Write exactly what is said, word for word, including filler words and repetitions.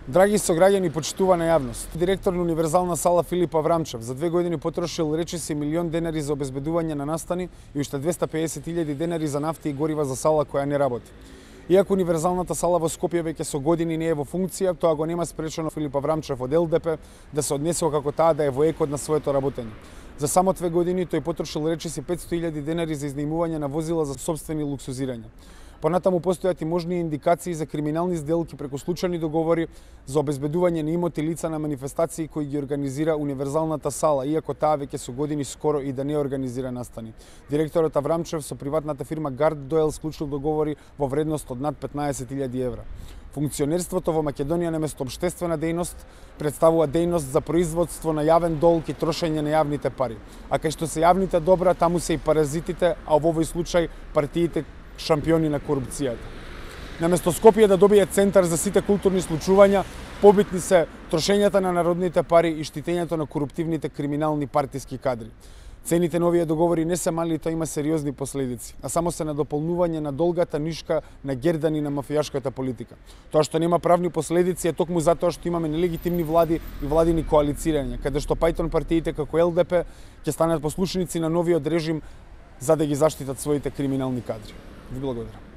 Драги сограѓани, почитувана јавност, директор на Универзална сала Филип Аврамчев за две години потрошил речиси милион денари за обезбедување на настани и уште двеста и педесет илјади денари за нафта и горива за сала која не работи. Иако Универзалната сала во Скопје веќе со години не е во функција, тоа го нема спречено Филип Аврамчев од Ел Де Пе да се однесува како таа да е во екот на своето работење. За само две години тој потрошил речиси петсто илјади денари за изнајмување на возила за сопствени луксузирања. Понатаму постојат и можни индикации за криминални сделки преку случајни договори за обезбедување на имоти лица на манифестации кои ги организира Универзалната сала, иако таа веќе со години скоро и да не организира настани. Директорот Аврамчев со приватната фирма Гард Доел склучил договори во вредност од над петнаесет илјади евра. Функционерството во Македонија наместо општествена дејност представува дејност за производство на јавен долг и трошење на јавните пари. А кај што се јавните добра, таму се и паразитите, а во овој случај партиите шампиони на корупцијата. Наместо Скопје да добие центар за сите културни случувања, побитни се трошењата на народните пари и штитењето на коруптивните криминални партиски кадри. Цените на овие договори не се мали и тоа има сериозни последици, а само се на дополнување на долгата нишка на гердани на мафијашката политика. Тоа што нема правни последици е токму затоа што имаме нелегитимни влади и владини коалицирања, каде што пајтон партиите како Ел Де Пе ќе станат послушници на новиот режим за да ги заштитат своите криминални кадри. Ви благодарам.